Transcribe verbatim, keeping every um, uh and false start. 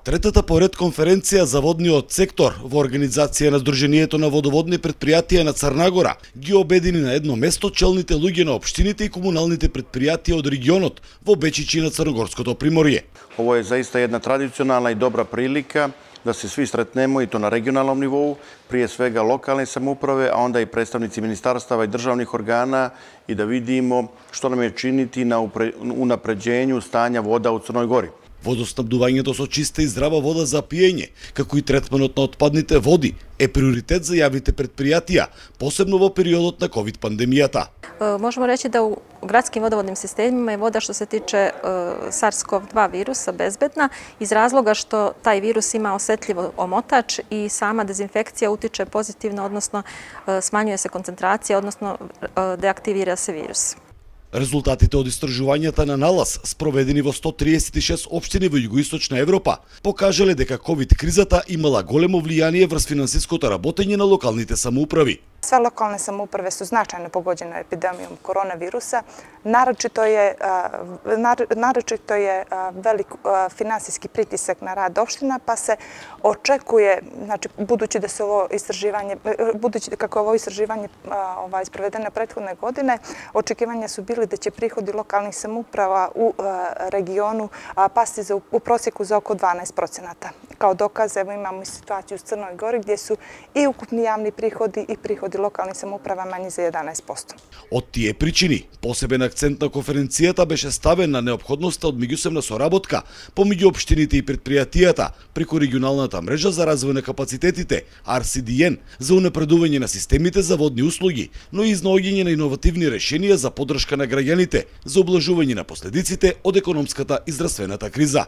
Третата поред конференција за водниот сектор во организација на Сдруженијето на водоводни предпријатија на Црна Гора ги обедини на едно место челните луѓе на општините и комуналните предпријатија од регионот во Бечичи на Црногорското приморје. Ово е заиста една традиционална и добра прилика да се сви сретнемо и то на регионалном нивоу, прije svega локални самоуправе, а онда и представници министарстава и државних органа и да видимо што нам е чинити на унапреđenju стања вода у Црној Гори. Водоснабдувањето со чиста и здрава вода за пиење, како и третманот на отпадните води, е приоритет за јавните предпријатија, посебно во периодот на ковид пандемијата. Можemo reći da u gradskim vodovodnim sistemima je voda što se tiče SARS-CoV dva virusa bezbedna iz razloga što taj virus ima osetljivo omotač i sama dezinfekcija utiče pozitivno, odnosno smanjuje se koncentracija, odnosno deaktivira se virus. Резултатите од истражувањата на налаз, спроведени во сто триесет и шест општини во југоисточна Европа, покажале дека ковид кризата имала големо влијание врз финансиското работење на локалните самоуправи. Sve lokalne samouprave su značajno pogođene epidemijom koronavirusa. Naročito je, naročito je velik finansijski pritisak na rad opština, pa se očekuje, znači, budući da se ovo istraživanje, budući kako ovo istraživanje ovaj, sprovedeno prethodne godine, očekivanja su bili da će prihodi lokalnih samouprava u regionu pasti za, u prosjeku za oko dvanaest procenata. Kao dokaz, evo imamo i situaciju u Crnoj Gori gdje su i ukupni javni prihodi i prihodi локални самоуправа мањи за еданаесет проценти. Од тие причини, посебен акцент на конференцијата беше ставен на неопходноста од меѓусебна соработка помеѓу општините и предпријатијата преку регионалната мрежа за развој на капацитетите Ар Си Ди Ен за унапредување на системите за водни услуги, но и изнаоѓање на иновативни решенија за поддршка на граѓаните за облажување на последиците од економската и здравствената криза.